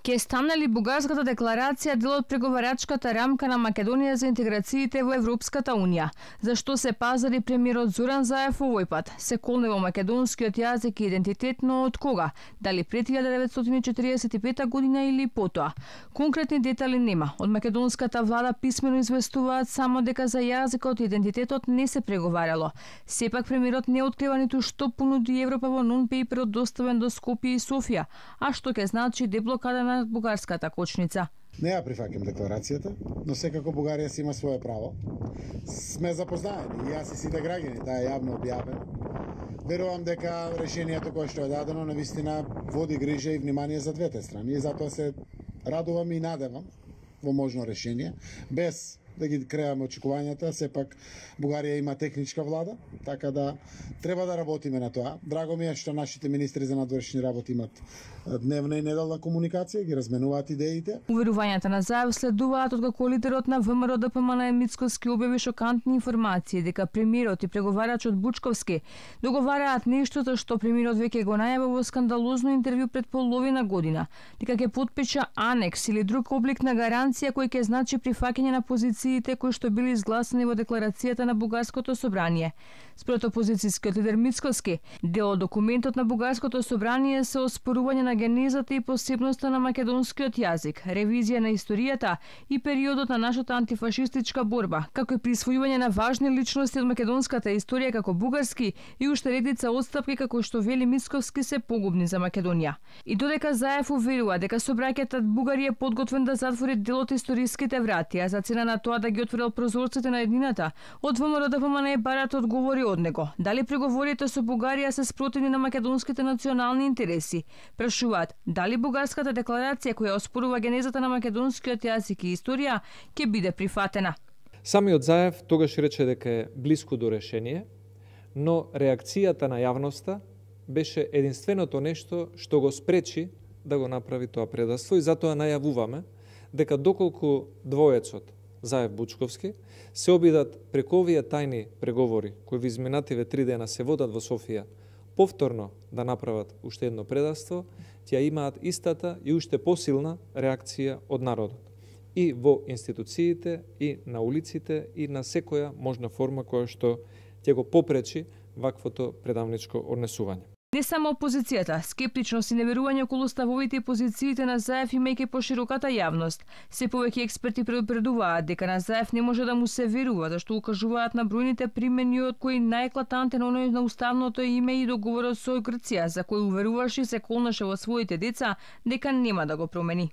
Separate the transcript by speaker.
Speaker 1: Ке стане ли бугарската декларација дел од преговарачката рамка на Македонија за интеграциите во Европската унија? Зашто се пазари премиерот Зоран Заев овој пат? Се колне во македонскиот јазик и идентитет, но од кога? Дали пред 1945 година или потоа? Конкретни детали нема. Од македонската влада писмено известуваат само дека за јазикот и идентитетот не се преговарало. Сепак премиерот не открива ниту што понуди Европа во нон-пейперот доставен до Скопје и Софија, а што ќе значи деблокада на бугарската кочница.
Speaker 2: Не ја прифаќам декларацијата, но секако Бугарија си има свое право. Сме запознаени, и јас и сите граѓани, таа е јавно објавено. Верувам дека решението кое што е дадено навистина води грижа и внимание за двете страни и затоа се радувам и надевам во можно решение, без да ги креаме очекувањата. Сепак Бугарија има техничка влада, така да треба да работиме на тоа. Драго ми е што нашите министри за надворешни работи имат дневна и неделна комуникација, ги разменуваат идеите.
Speaker 1: Уверувањата на Заев следуваат откако лидерот на ВМРО ДПМН Мицкоски објави шокантни информации дека премиерот и преговарачот Бучковски договараат нешто за што премиерот веќе го најави во скандалозно интервју пред половина година, дека ќе потпиша анекс или друг облик на гаранција кој ќе значи прифаќање на позициите кои што били изгласани во декларацијата на Бугарското собрание. Според опозицијскиот лидер Мицкоски, дел од документот на Бугарското собрание се оспорување на генезата и посебноста на македонскиот јазик, ревизија на историјата и периодот на нашата антифашистичка борба, како и присвојување на важни личности од македонската историја како бугарски и уште редица отстапки како што вели Мицкоски се погубни за Македонија. И додека Заев уверува дека собраќајот Бугарија е подготвен да затвори дел од историските врати, а за цена на тоа да ги отворил прозорците на еднината, од ВМРО ДПМН барат одговори од него. Дали преговорите со Бугарија се спротивни на македонските национални интереси? Прашуваат дали бугарската декларација која оспорува генезата на македонскиот јазик и историја ќе биде прифатена.
Speaker 3: Самиот Заев тогаш рече дека е блиску до решение, но реакцијата на јавноста беше единственото нешто што го спречи да го направи тоа предавство и затоа најавуваме дека доколку двоецот Заев-Бучковски се обидат преку овие тајни преговори кои во изминативе 3 дена се водат во Софија повторно да направат уште едно предавство, ќе имаат истата и уште посилна реакција од народот. И во институциите, и на улиците, и на секоја можна форма која што ќе го попречи ваквото предавничко однесување.
Speaker 1: Не само опозицијата, скептичност и неверување околу ставовите и позициите на Заев имајќи пошироката јавност. Се повеќе експерти предупредуваат дека на Заев не може да му се верува, зашто укажуваат на бројните примени од кои најеклатантен оној на уставното име и договорот со Грција, за кој уверуваше и се колнеше во своите деца дека нема да го промени.